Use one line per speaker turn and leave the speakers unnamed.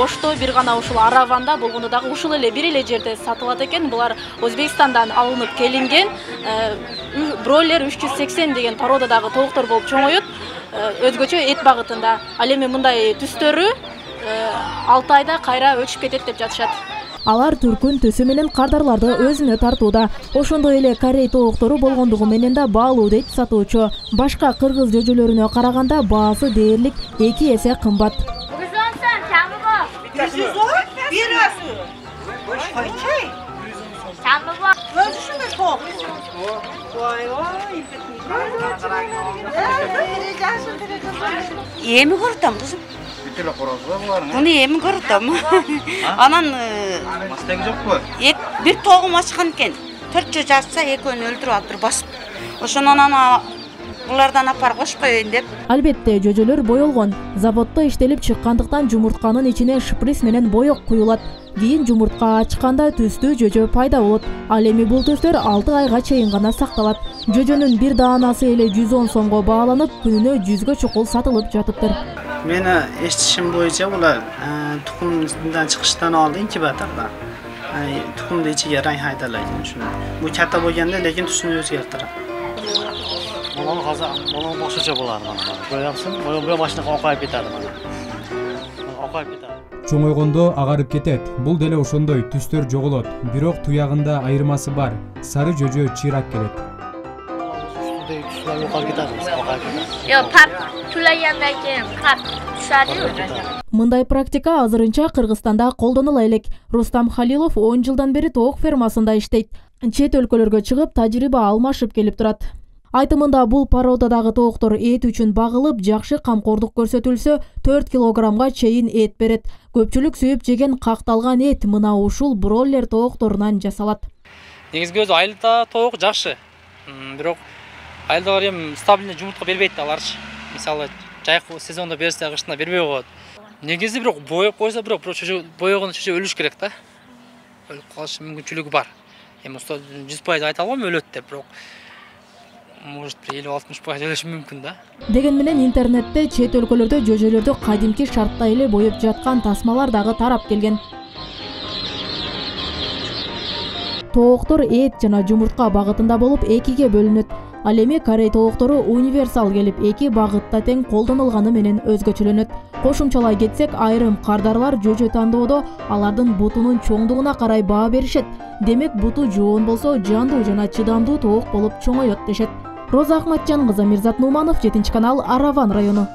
Ошто бир гана ушул Араванда болгондо дагы ушул эле бир эле жерде сатылат экен. Булар Өзбекстандан алынып келинген бройлер 380 деген породадагы тооктор болуп чоңойот. Өзгөчө эт багытында. Ал эми мындай түстөрү 6 айда кайра өчүп кетет деп жатышат.
Алар түркүн төсү менен кардарларды өзүнө тартууда. Ошондой эле корей тооктору болгондугу менен да баалуу дейт сатуучу. Башка кыргыз жөжөлөрүнө караганда баасы дээрлик 2 эсе кымбат.
Эми көрүтөм кызым. Буну эми көрүтөм. Анан
мастеги жокпу?
Бир тоогум ачкан экен. 4 жөө жатса экөөнү өлтүрүп алыптыр басып. Ошондон анан булардан апарып кошуп коеюн деп.
Албетте жөжөлөр боелгон. Заводдо иштелип чыккандыктан жумуртканын ичине шприц менен боек куюлат. Кийин жумуртка ачканда түстүү жөжө пайда болот. Ал эми бул түстөр 6 айга чейин гана сакталат. Жөжөнүн бир даанасы эле 110 сомго бааланып, күнүнө 100гө чукул сатылып жатыптыр.
Мени эстишим боюнча булар тукумдан чыгыштан алдын инкубаторда. Тукумду ичиге райхайдалайт ушуну. Бу ката болгондо лекин түсүн өзгөртөт.
Муну муну башкача болар мына. Коямсың, бу машина окайып кетет мына. Окайып кетет.
Чоңойгондо агарып кетет. Бул деле ошондой түстөр жоголот. Бирок туягында айырмасы бар. Сары жөжө чыйрак келет. Мындай практика азырынча Кыргызстанда колдонула элек. Рустам Халилов 10 жылдан бери тоок фермасында иштейт. Чет өлкөлөргө чыгып, тажрыйба алмашып келип турат. Айтымында бул породадагы тооктор эт үчүн багылып, жакшы камкордук көрсөтүлсө, 4 килограммга чейин эт берет. Көпчүлүк сүйүп жеген какталган эт мына ушул бройлер тоокторунан жасалат.
Негизги өзү айылда тоок жакшы. Бирок айылдагылар эми стабильный жумуртка бербейт аларчы. Мисалы, жайкы сезондо берсе, кышында бербей коет. Негизи бирок боеп койсо, бирок боегон чөжө өлүш керек да. Өлүп калыш мүмкүнчүлүгү бар. Эми 100% айта албайм өлөт деп, бирок может 50-60% өлүшү мүмкүн да.
Деген менен интернетте чет өлкөлөрдө жөжөлөрдү кадимки шартта эле боеп жаткан тасмалар дагы тарап келген. Тооктор эт жана жумуртка багытында болуп экиге бөлүнөт. Ал эми корей тооктору универсал келип, эки багытта тең колдонулганы менен өзгөчөлөнөт. Кошумчалай кетсек, айрым кардарлар жөжө тандоодо алардын бутунун чоңдугуна карай баа беришет. Демек, буту жоон болсо, жандуу жана чыдамдуу тоок болуп чоңоет дешет. Роза Ахматжан кызы, Мирзат Нуманов, 7 канал, Араван району.